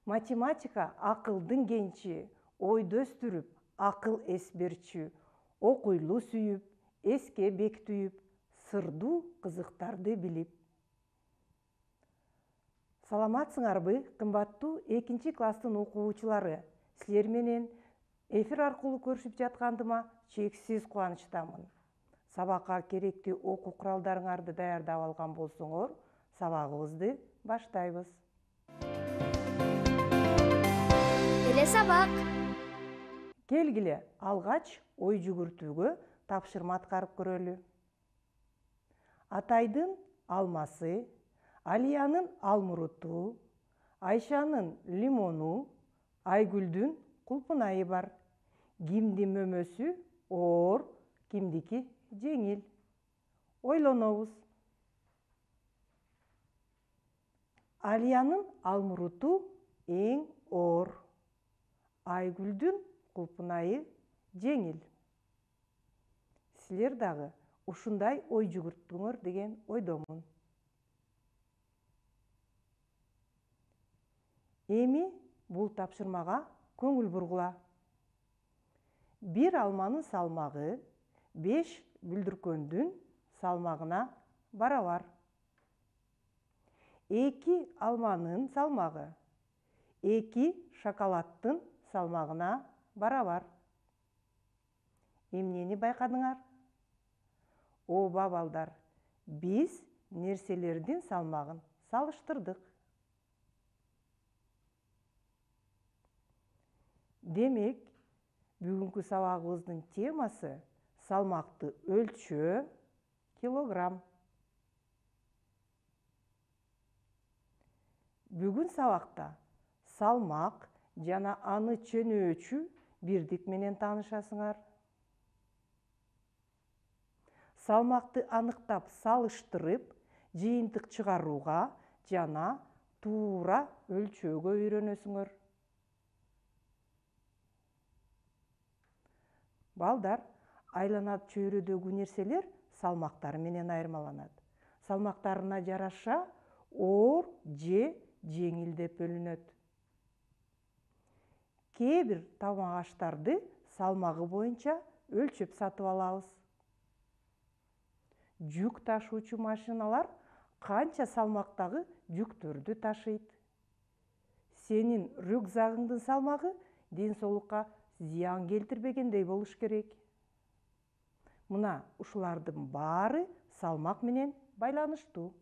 Математика акылдын кенчи, ойду өстүрүп, акыл эс берчү, окуйлуу сүйүп, эске бекитип, сырдуу кызыктарды билип. Саламатсыңарбы, кымбаттуу 2-класстын окуучулары? Силер менен эфир аркылуу көрүшүп жаткандыма чексиз кубанычтамын. Сабакка керектүү окуу куралдарыңарды даярдап алган болсоңор, сабагыбызды баштайбыз. Сабак. Келгиле, алгач ой жүгүртүүгө тапшырма аткарып көрөлү. Атайдын алмасы, Алиянын алмуруту, Айшанын лимону, Айгүлдүн кулпунайы бар. Кимдин мөмөсү оор, кимдики жеңил? Ойлонобуз. Алиянын алмуруту эң оор. Айгүлдүн кулпунайы жеңил. Силер дагы ушундай ой жүгүрттүңөр деген ойдомун. Эми бул тапшырмага көңүл бургула. Бир алманын салмагы 5 бүлдүркөндүн салмагына барабар. 2 алманын салмагы 2 шоколадтын салмагына барабар. Эмнени байкадыңар? Ооба балдар, биз нерселердин салмагын салыштырдык. Демек, бүгүнкү сабагыбыздын темасы салмакты өлчөө килограмм. Бүгүн сабакта салмак жана аны чөнөөчү бирдик менен таанышасыңар. Салмакты аныктап салыштырып, жыйынтык чыгарууга жана туура өлчөөгө үйрөнөсүңөр. Балдар, айлана чөйрөдөгү нерселер салмактары менен айырмаланат. Салмактарына жараша оор же жеңил деп бөлүнөт. Кээ бир тамак аштарды салмагы боюнча өлчөп сатып алабыз. Жүк ташуучу машиналар канча салмактагы жүктөрдү ташыйт. Сенин рюкзагыңдын салмагы ден соолукка зыян келтирбегендей болуш керек. Мына ушулардын баары салмак менен байланыштуу.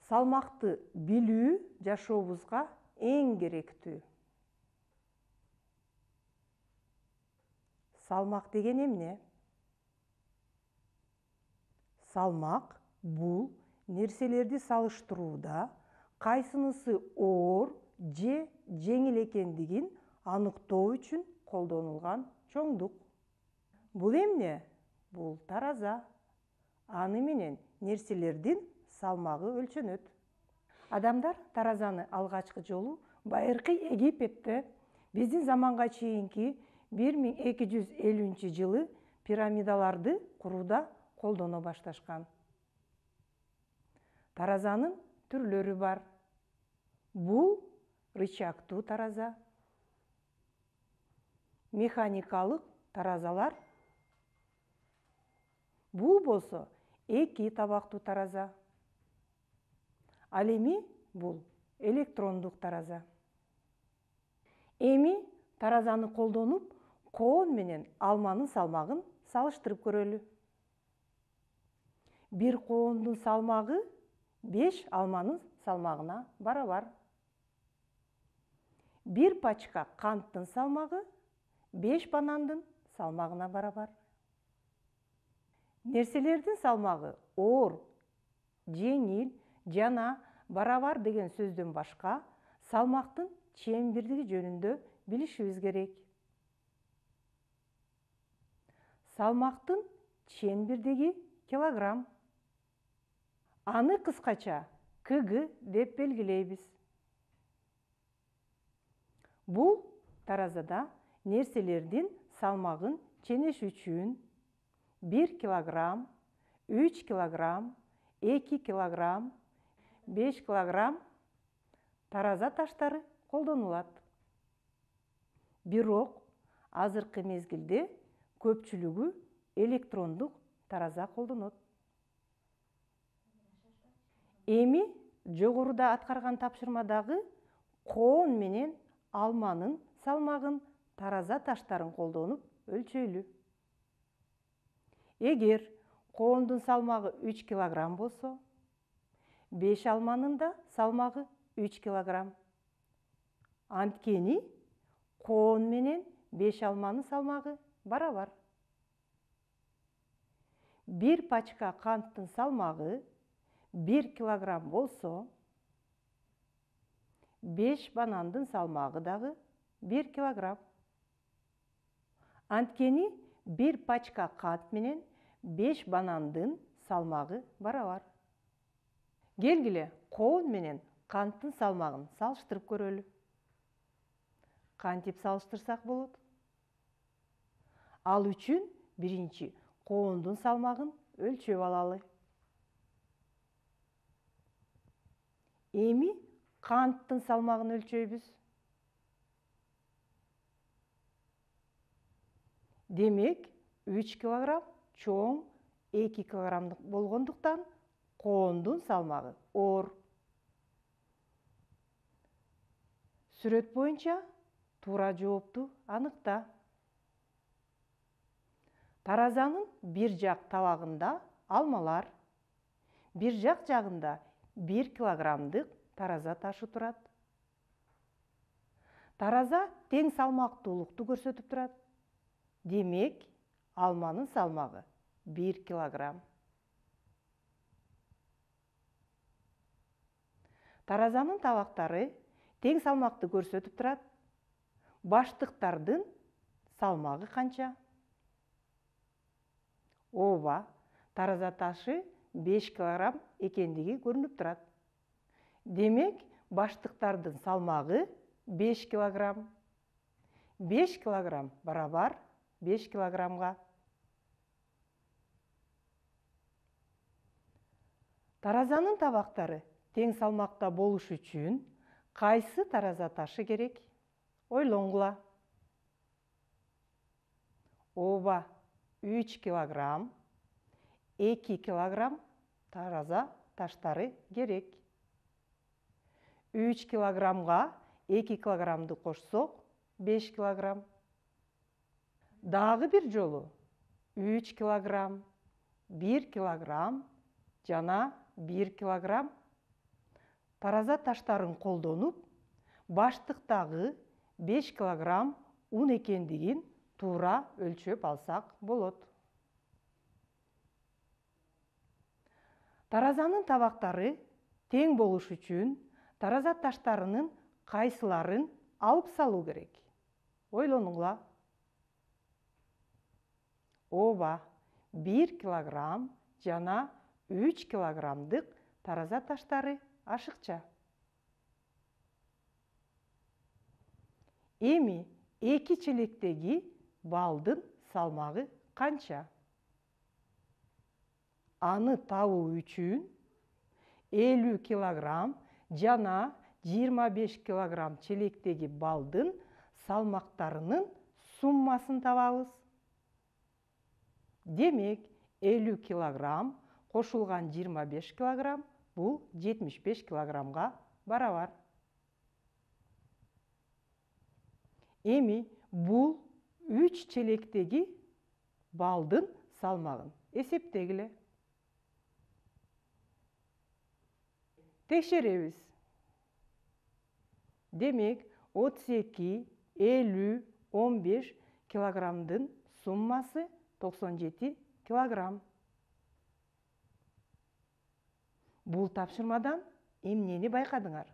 Салмакты билүү жашообузга эң керектүү. Салмак деген эмне? Салмак бул нерселерди салыштырууда кайсынысы оор же жеңил экендигин аныктоо үчүн колдонулган чоңдук. Бул эмне? Бул тараза. Аны менен нерселердин салмагы өлчөнөт. Адамдар таразаны алгачкы жолу байыркы Египетте биздин заманга чейинки 1250-жылы пирамидаларды курууда колдоно башташкан. Таразанын түрлөрү бар. Бул рычагтуу тараза, механикалык таразалар. Бул болсо 2 табактуу тараза. Ал эми бул электрондук тараза. Эми таразаны колдонуп, коон менен алманын салмагын салыштырып көрөлү. Бир коондун салмагы 5 алманын салмагына барабар. Бир пачка канттын салмагы 5 банандын салмагына барабар. Нерселердин салмагы оор, жеңил жана барабар деген сөздөн башка салмактын чембирдиги жөнүндө билишибиз керек. Салмактын чембирдиги килограмм. Аны кыскача КГ деп белгилейбиз. Бул таразада нерселердин салмагын ченеш үчүн 1 килограмм, 3 килограмм, 2 килограмм, 5 килограмм тараза таштары колдонулат. Бирок азыркы мезгилде көпчүлүгү электрондук тараза колдонот. Эми жогоруда аткарган тапшырмадагы коон менен алманын салмагын тараза таштарын колдонуп өлчөйлү. Эгер коондун салмагы 3 килограмм болсо, 5 алманын да салмагы 3 килограмм. Анткени коон менен 5 алманын салмагы барабар. 1 пачка канттын салмагы 1 килограмм болсо, 5 банандын салмагы дагы 1 килограмм. Анткени 1 пачка кант менен 5 банандын салмагы барабар. Келгиле, коон менен канттын салмагын салыштырып көрөлү. Кантип салыштырсак болот? Ал үчүн биринчи коондун салмагын өлчөп алалы. Эми канттын салмагын өлчөйбүз. Демек, 3 килограмм чоң 2 килограммдык болгондуктан коондун салмагы оор. Сүрөт боюнча туура жоопту аныкта. Таразанын бир жак табагында алмалар, бир жак жагында 1 килограммдык тараза ташы турат. Тараза тең салмактуулукту көрсөтүп турат. Демек, алманын салмагы 1 килограмм. Таразанын табактары тең салмакты көрсөтүп турат. Баштыктардын салмагы канча? Ооба, тараза ташы 5 килограмм экендиги көрүнүп турат. Демек, баштыктардын салмагы 5 килограмм. 5 килограмм барабар 5 килограммга. Таразанын табактары тең салмакта болуш үчүн кайсы тараза ташы керек? Ойлоңгула. Ооба, 3 килограмм, 2 килограмм тараза таштары керек. 3 килограммга 2 килограммды кошсок, 5 килограмм. Дагы бир жолу 3 килограмм, 1 килограмм жана 1 килограмм тараза таштарын колдонуп, баштыктагы 5 килограмм ун экендигин туура өлчөп алсак болот. Таразанын табактары тең болуш үчүн тараза таштарынын кайсыларын алып салуу керек? Ойлонуңла. Ооба, 1 килограмм жана 3 килограммдык тараза таштары ашыкча. Эми 2 челектеги балдын салмагы канча? Аны табуу үчүн 50 килограмм жана 25 килограмм челектеги балдын салмактарынын суммасын табабыз. Демек, 50 килограмм кошулган 25 килограмм бул 75 килограммга барабар. Эми бул 3 челектеги балдын салмагын эсептегиле. Текшеребиз. Демек, 32, 50, 15 килограммдын суммасы 97 килограмм. Бул тапшырмадан эмнени байкадыңар?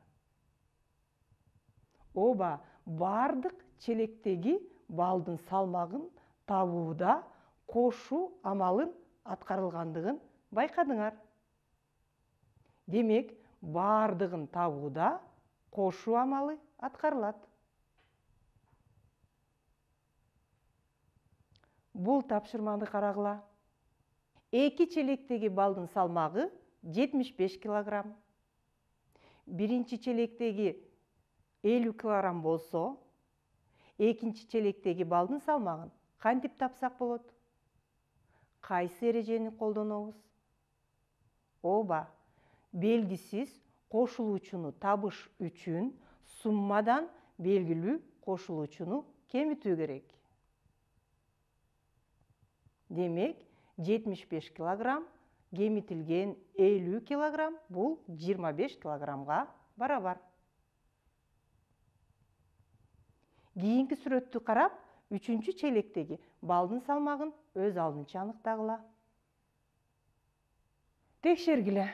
Ооба, бардык челектеги балдын салмагын табууда кошуу амалын аткарылгандыгын байкадыңар. Демек, бардыгын табууда кошуу амалы аткарылат. Бул тапшырманы карагыла. 2 челектеги балдын салмагы 75 килограмм. Биринчи челектеги 50 кг болсо, экинчи челектеги балдын салмагын кантип тапсак болот? Кайсы эрежени колдонобуз? Ооба, белгисиз кошулуучуну табыш үчүн суммадан белгилүү кошулуучуну кемитүү керек. Демек, 75 кг кемитилген 50 кг бул 25 кг барабар. Кийинки сүрөттү карап, үчүнчү челектеги балдын салмагын өз алдынча аныктагыла. Текшергиле.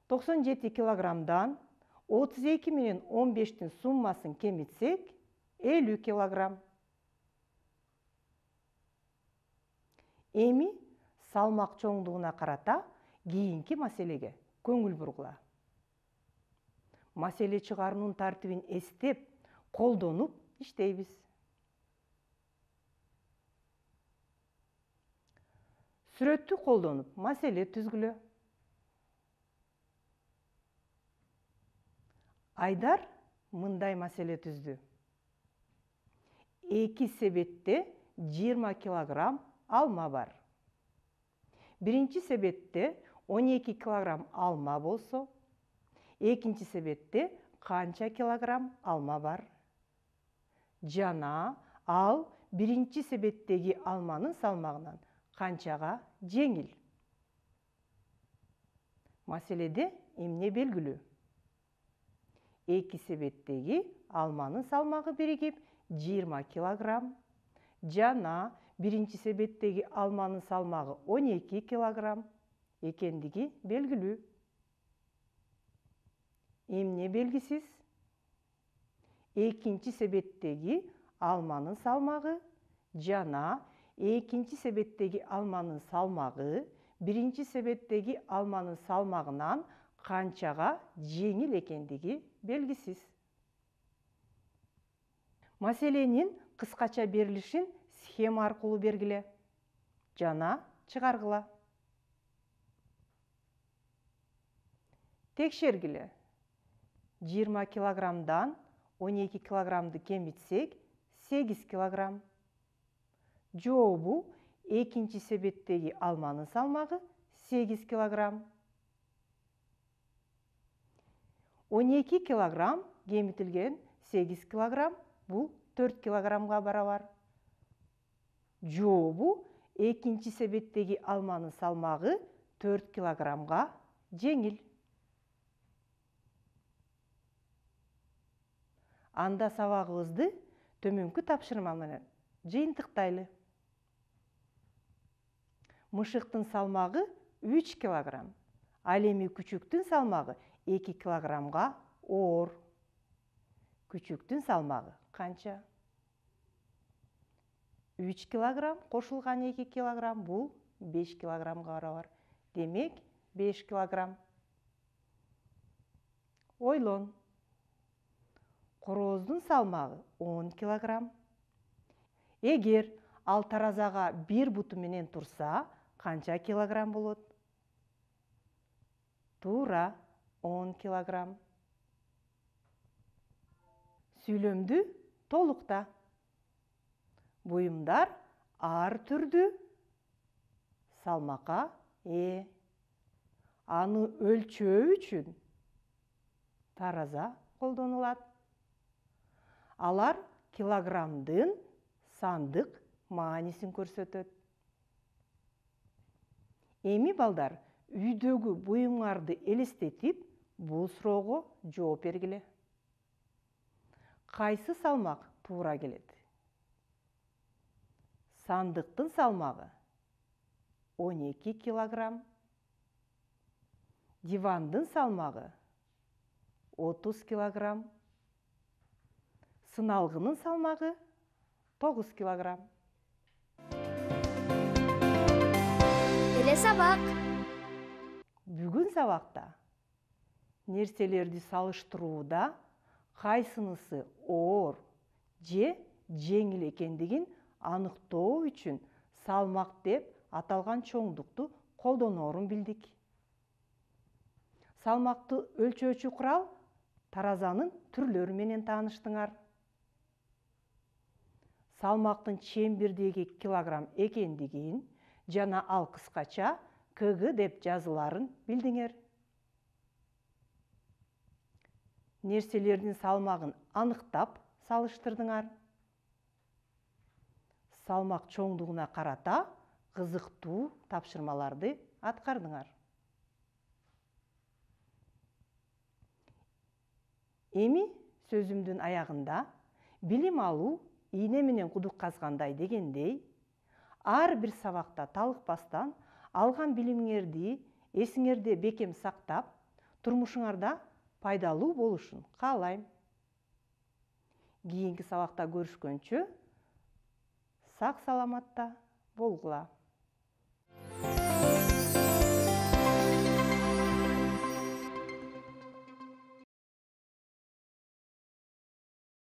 97 кг 32 менен 15-тин суммасын кемитсек, 50 кг. Эми салмак чоңдугуна карата кийинки маселеге көңүл бургула. Маселе чыгаруунун тартибин эстеп, колдонуп иштейбиз. Сүрөттү колдонуп маселе түзгүлө. Айдар мындай маселе түздү. 2 себетте 20 кг алма бар. Биринчи себетте 12 кг алма болсо, экинчи себетте канча килограмм алма бар? Жана ал биринчи себеттеги алманын салмагынан канчага жеңил? Маселеде эмне белгилүү? 2 себеттеги алманын салмагы биригип 20 кг, жана биринчи себеттеги алманын салмагы 12 кг экендиги белгилүү. Эмне белгисиз? Экинчи себеттеги алманын салмагы жана экинчи себеттеги алманын салмагы биринчи себеттеги алманын салмагынан канчага жеңил экендиги белгисиз. Маселенин кыскача берилишин схема аркылуу бергиле жана чыгаргыла. Текшергиле. 20 килограммдан 12 килограммды кемитсек 8 килограмм. Жообу экинчи себеттеги алманын салмагы 8 килограмм. 12 килограмм кемитилген 8 килограмм бул 4 килограммга барабар. Жообу экинчи себеттеги алманын салмагы 4 килограммга жеңил. Анда сабагыбызды төмөнкү тапшырма менен жыйынтыктайлы. Мышыктын салмагы 3 килограмм, ал эми күчүктүн салмагы 2 килограммга оор. Күчүктүн салмагы канча? 3 килограмм кошулган 2 килограмм бул 5 килограммга барабар. Демек, 5 килограмм. Ойлон. Корооздун салмагы 10 килограмм. Эгер ал таразага бир буту менен турса, канча килограмм болот? Туура 10 килограмм. Сүйлөмдү толукта. Буюмдар ар түрдүү салмакка ээ. Аны өлчөө үчүн тараза колдонулат. Алар килограммдын сандык маанисин көрсөтөт. Эми балдар, үйдөгү буюмуңарды элестетип, бул суроого жооп бергиле. Кайсы салмак туура келет? Сандыктын салмагы 12 килограмм. Дивандын салмагы 30 килограмм. Сыналгынын салмагы 9 килограмм. Эле сабак. Бүгүн сабакта нерселерди салыштырууда кайсынысы оор же жеңил экендигин аныктоо үчүн салмак деп аталган чоңдукту колдоноорун билдик. Салмакты өлчөөчү курал таразанын түрлөрү менен тааныштыңар. Салмактын чембирдеги килограмм экендигин жана ал кыскача КГ деп жазыларын билдиңер. Нерселердин салмагын аныктап салыштырдыңар. Салмак чоңдугуна карата кызыктуу тапшырмаларды аткардыңар. Эми сөзүмдүн аягында билим алуу ийне менен кудук казгандай дегендей, ар бир сабакта талыкпастан алган билимиңерди эсиңерде бекем сактап, турмушуңарда пайдалуу болушун каалайм. Кийинки сабакта көрүшкөнчө сак саламатта болгула.